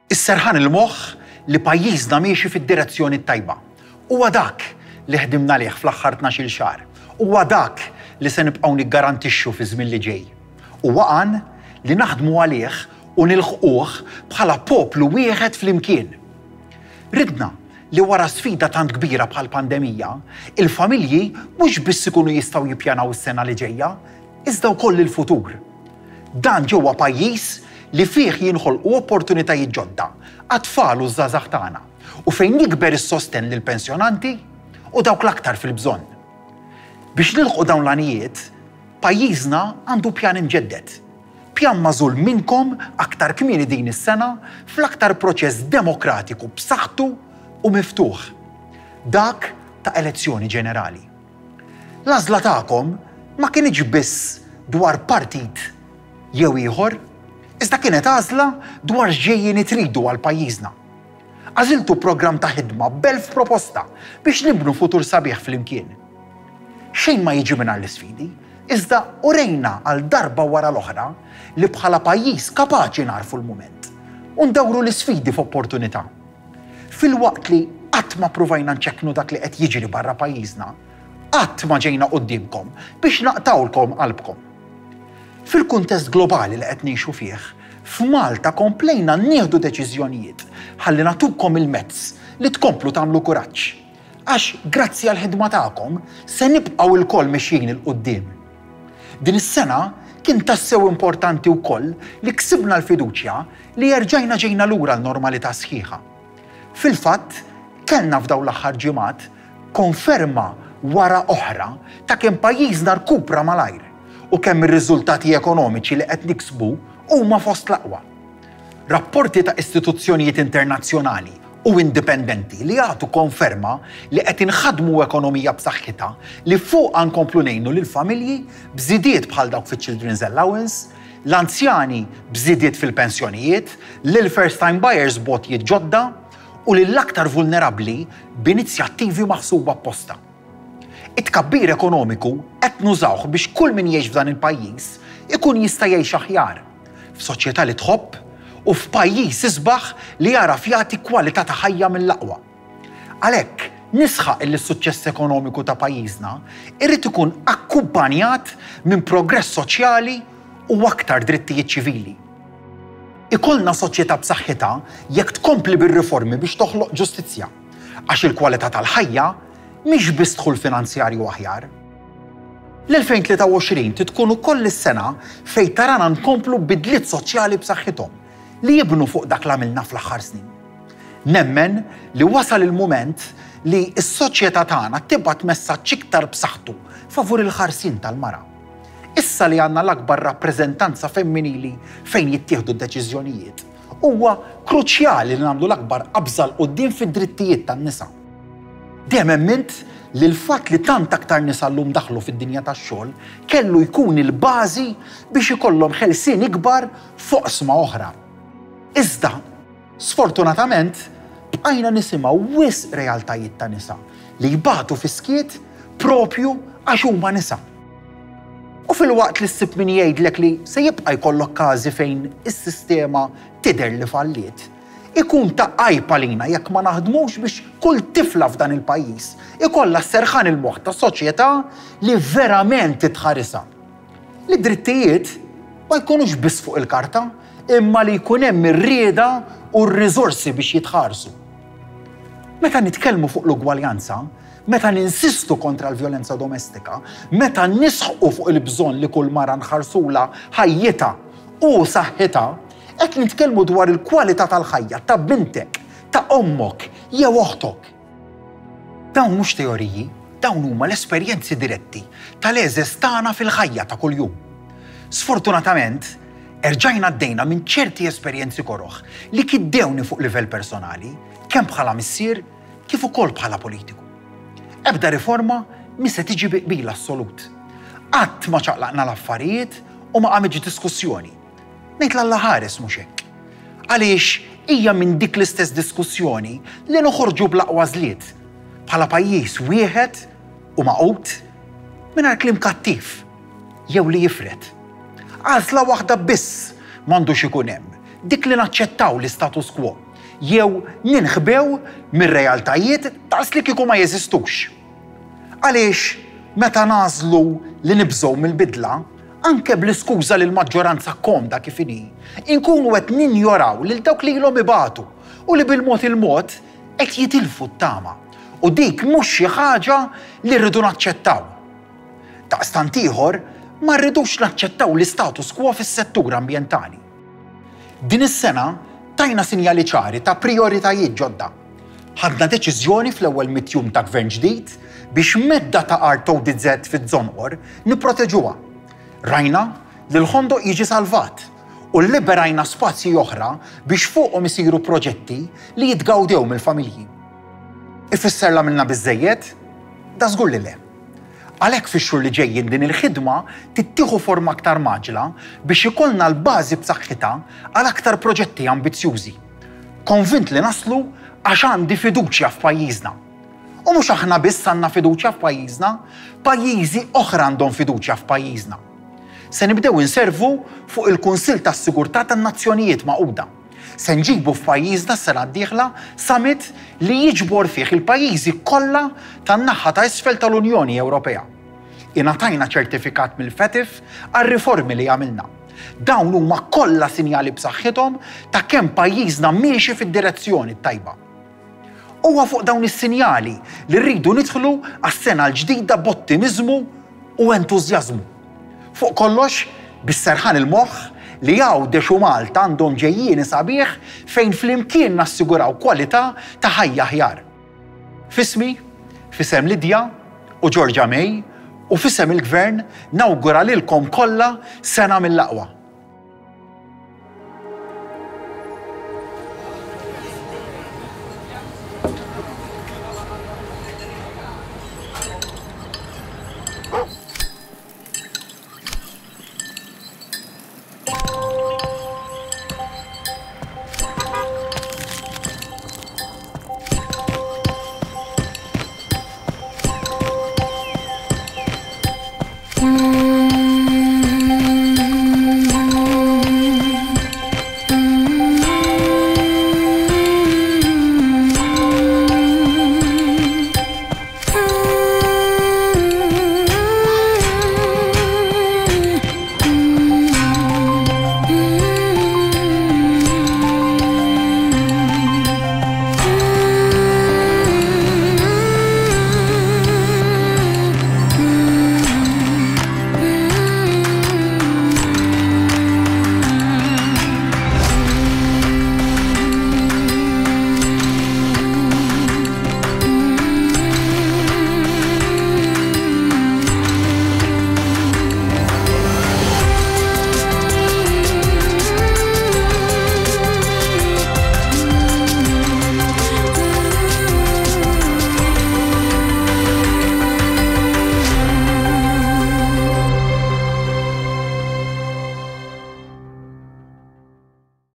Is-serħan il-moħħ li pajjiżna miexi fid-direzzjoni t-tajba. Huwa dak li ħdimna għalih fl-aħħar 12-il xahar. Huwa dak li se nibqgħu niggarantixxu fiż-żmien li ġej. Huwa għan li naħdmu għalih u nilħquh bħala poplu wieħed flimkien. Ridna li wara sfida tant kbira bħall-pandemija, il-familji mhux biss ikunu jistgħu jippjanaw is-sena li ġejja, iżda wkoll il-futur. Dan ġewwa pajjiż li fih jinħolqu opportunitajiet ġodda għat-tfal u ż-żgħażagħ tagħna u fejn jikber is-sostenn lill-pensjonanti u dawk l-aktar fil-bżonn. Biex nilħqu dawn l-għanijiet, pajjiżna għandu pjan imġedded. Pjan magħżul minnkom aktar kmieni din is-sena fl-aktar proċess demokratiku b'saħħtu u miftuħ, dak ta' elezzjoni ġenerali. L-għażla tagħkom ma kinitx biss dwar partit jew ieħor, iżda kienet għażla dwar x'ġejjieni tridu għal pajjiżna. Għażiltu programm ta' ħidma b'elf proposta biex nibnu futur sabiħ flimkien. Xejn ma jiġi mingħajr l-isfidi, iżda urejna għal darba wara l-oħra li bħala pajjiż kapaċi nagħrfu l-mument u ndawru l-isfidi f'opportunità. Filwaqt li qatt ma ppruvajna nċekknu dak li qed jiġri barra pajjiżna, qatt ma ġejna quddiemkom biex naqtgħulkom qalbkom. Fil-kuntest globali li qed ngħixu fih, f'Malta komplejna nieħdu deċiżjonijiet ħalli nagħtukom il-mezz li tkomplu tagħmlu kuraġġ. Għax grazzi għall-ħidma tagħkom se nibqgħu lkoll mexjin 'il quddiem. Din is-sena kien tassew importanti wkoll li ksibna l-fiduċja li erġajna ġejna lura l-normalità sħiħa. Fil-fatt, kellna f'dawn l-aħħar ġimgħat konferma wara oħra ta' kemm pajjiżna rkupra malajr u kemm ir-riżultati ekonomiċi li qed niksbu huma fost l-aqwa. Rapporti ta' istituzzjonijiet internazzjonali u indipendenti li jagħtu konferma li qed inħaddmu ekonomija b'saħħitha li fuqha nkomplu ngħinu lill-familji b'żidiet bħal dawk fiċ-Children's Allowance, l-anzjani b'żidiet fil-pensjonijiet, lill-first time buyers b'għotjiet ġodda u lill-aktar vulnerabbli b'inizjattivi maħsuba apposta. It-tkabbir ekonomiku qed nużawh biex kull min jgħix f'dan il-pajjiż ikun jista' jgħix aħjar, f'soċjetà li tħobb u f'pajjiż isbaħ li jagħraf jagħti kwalità ta' ħajja mill-aqwa. Għalhekk, nisħaq illi s-suċċess ekonomiku ta' pajjiżna irid ikun akkumpanjat minn progress soċjali u aktar drittijiet ċivili. Ikollna soċjetà b'saħħitha jekk tkompli bir-riformi biex toħloq ġustizzja, għax il-kwalità tal-ħajja mhix biss dħul finanzjarju aħjar. L-2023 trid tkun ukoll is-sena fejn tarana nkomplu b'bidliet soċjali b'saħħithom li jibnu fuq dak l għamilna fl-aħħar snin. Nemmen li wasal il-mument li s-soċjetà tagħna tibgħat messaġġ iktar b'saħħtu favur il-ħarsien tal-mara. Issa li għandna l-akbar rappreżentanza femminili fejn jittieħdu d-deċiżjonijiet, huwa kruċjali li nagħmlu l-akbar qabża 'l quddiem fid-drittijiet tan-nisa. Dejjem emmint li l-fatt li tant aktar nisa llum daħlu fid-dinja tax-xogħol kellu jkun il-bażi biex ikollhom ħelsien ikbar f'oqsma oħra. Iżda, sfortunatament, bqajna nisimgħu wisq realtajiet ta' nisa li jbatu fis-skiet proprju għax huma nisa. U filwaqt li ssib min jgħidlek li se jibqa' jkollok każi fejn is-sistema tidher li falliet, ikun ta' għajb għalina jekk ma naħdmux biex kull tifla f'dan il-pajjiż ikollha s-serħan il-moħħ ta' soċjetà li verament titħarisha. Li d-drittijiet ma jkunux biss fuq il-karta, imma li jkun hemm ir-rieda u r-riżorsi biex jitħarsu. Meta nitkellmu fuq l-ugwaljanza, meta ninsistu kontra l-vjolenza domestika, meta nisħqu fuq il-bżonn li kull mara nħarsulha ħajjitha u saħħitha, qed nitkellmu dwar il-kwalità tal-ħajja ta' bintek, ta' ommok jew oħtok. Dawn mhux teoriji, dawn huma l-esperjenzi diretti tal-għeżeż tagħna fil-ħajja ta' kuljum. Sfortunatament, erġajna għaddejna minn ċerti esperjenzi koroh li kiddewni fuq livell personali, kemm bħala missier kif ukoll bħala politiku. Ebda riforma mhi se tiġi bi qbil assolut. Qatt ma ċaqlaqna l-affarijiet u ma qamitx diskussjoni. Ngħid l-Alla ħares mhux hekk. Għaliex hija minn dik l-istess diskussjoni li noħorġu bl-aqwa għażliet, bħala pajjiż wieħed u magħqud, mingħajr kliem kattiv jew li jifred. Għażla waħda biss m'għandux ikun hemm. Dik li naċċettaw l-istatus quo, jew ninħbew mir-realtajiet daqs li kieku ma jeżistux. Għaliex meta nagħżlu li nibżgħu mill-bidla, anke bl-iskuża li l-maġġoranza komda kif inhi, inkunu qed ninjoraw lil dawk li ilhom ibatu u li bil-mod il-mod qed jitilfu t-tama. U dik mhux xi ħaġa li rridu naċċettaw. Daqstant ieħor, ma rridux naċċettaw l-istatus quo fis-settur ambjentali. Din is-sena tajna sinjali ċari ta' prijoritajiet ġodda. Ħadna deċiżjoni fl-ewwel mitt jum ta' Gvern ġdid biex medda ta' art ODZ fiż-Żonqor nipproteġuha. Rajna li l-Ħondoq jiġi salvat u lliberajna spazji oħra biex fuqhom isiru proġetti li jitgawdew mill-familji. Ifisser l-għamilna biżżejjed? Dażgur li le. Għalhekk fix-xhur li ġejjin din il-ħidma trid tieħu forma aktar mgħaġġla biex ikollna l-bażi b'saħħitha għal aktar proġetti ambizzjużi. Konvint li naslu għax għandi fiduċja f'pajjiżna. U mhux aħna biss għandna fiduċja f'pajjiżna, pajjiżi oħra għandhom fiduċja f'pajjiżna. Se nibdew inservu fuq il-Kunsill tas-Sigurtà tan-Nazzjonijiet Magħquda. Se nġibu f'pajjiżna s-sena d-dieħla summit li jiġbor fih il-pajjiżi kollha tan-naħa ta' isfel tal-Unjoni Ewropea. Ingħatajna ċertifikat mill-FATF għar-riformi li għamilna. Dawn huma kollha sinjali b'saħħithom ta' kemm pajjiżna miexi fid-direzzjoni t-tajba. Huwa fuq dawn is-sinjali li rridu nidħlu għas-sena l-ġdida b'ottimiżmu u entużjażmu. Fuq kollox, bis-serħan il-moħħ li Għawdex u Malta għandhom ġejjieni sabiħ fejn flimkien nassiguraw kwalità ta' ħajja aħjar. F'ismi, f'isem Lydia u Georgia May u f'isem il-Gvern nawgura lilkom kollha sena mill-aqwa.